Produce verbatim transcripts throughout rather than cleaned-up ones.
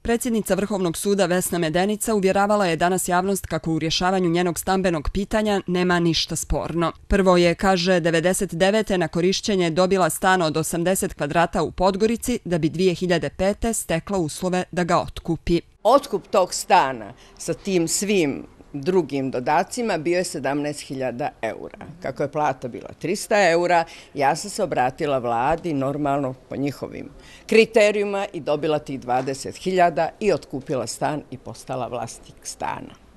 Predsjednica Vrhovnog suda Vesna Medenica uvjeravala je danas javnost kako u rješavanju njenog stambenog pitanja nema ništa sporno. Prvo je, kaže, devedeset devete na korišćenje dobila stan od osamdeset kvadrata u Podgorici da bi dvije hiljade pete stekla uslove da ga otkupi. Otkup tog stana sa tim svim drugim dodacima bio je sedamnaest hiljada eura. Kako je plata bila trista eura, ja sam se obratila vladi normalno po njihovim kriterijima i dobila tih dvadeset hiljada i otkupila stan i postala vlasnik stana.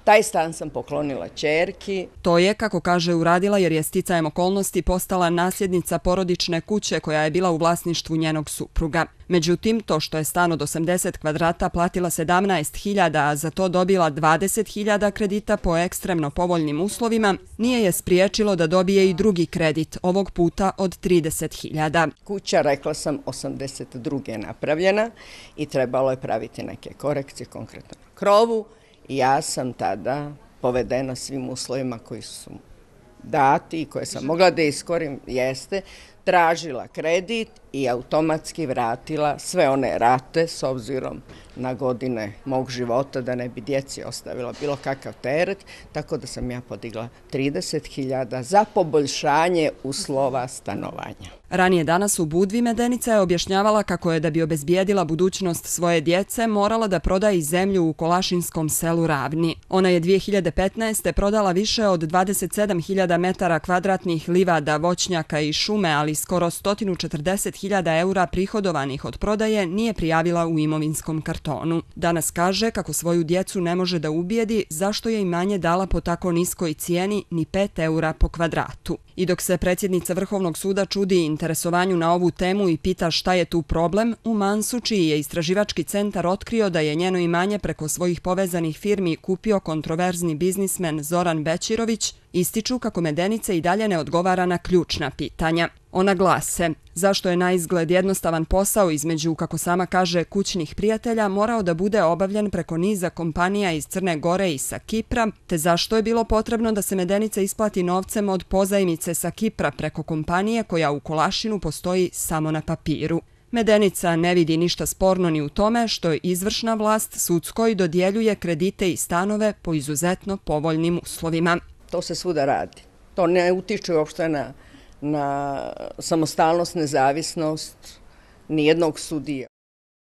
Taj stan sam poklonila ćerki. To je, kako kaže, uradila jer je sticajem okolnosti postala nasljednica porodične kuće koja je bila u vlasništvu njenog supruga. Međutim, to što je stan od osamdeset kvadrata platila sedamnaest hiljada, a za to dobila dvadeset hiljada kredita po ekstremno povoljnim uslovima, nije je spriječilo da dobije i drugi kredit, ovog puta od trideset hiljada. Kuća, rekla sam, osamdeset druge napravljena i trebalo je praviti neke korekcije, konkretno na krovu. I ja sam tada povedena svim uslovima koji su dati i koje sam mogla da iskorim, jeste, tražila kredit i automatski vratila sve one rate s obzirom na godine mog života da ne bi djeci ostavila bilo kakav teret, tako da sam ja podigla trideset hiljada za poboljšanje uslova stanovanja. Ranije danas u Budvi Medenica je objašnjavala kako je da bi obezbijedila budućnost svoje djece morala da proda i zemlju u kolašinskom selu Ravni. Ona je dvije hiljade petnaeste. prodala više od dvadeset sedam hiljada metara kvadratnih livada, voćnjaka i šume, ali skoro sto četrdeset hiljada eura prihodovanih od prodaje nije prijavila u imovinskom kartonu. Danas kaže kako svoju djecu ne može da ubijedi zašto je imanje dala po tako niskoj cijeni ni pet eura po kvadratu. I dok se predsjednica Vrhovnog suda čudi interesovanju na ovu temu i pita šta je tu problem, u Mansu, čiji je istraživački centar otkrio da je njeno imanje preko svojih povezanih firmi kupio kontroverzni biznismen Zoran Bećirović, ističu kako Medenica i dalje ne odgovara na ključna pitanja. Ona glase: zašto je na izgled jednostavan posao između, kako sama kaže, kućnih prijatelja morao da bude obavljen preko niza kompanija iz Crne Gore i sa Kipra, te zašto je bilo potrebno da se Medenica isplati novcem od pozajmice sa Kipra preko kompanije koja u Kolašinu postoji samo na papiru. Medenica ne vidi ništa sporno ni u tome što je izvršna vlast sudskoj dodjeljuje kredite i stanove po izuzetno povoljnim uslovima. To se svuda radi. To ne utiče uopšte na, na samostalnost, nezavisnost nijednog sudije.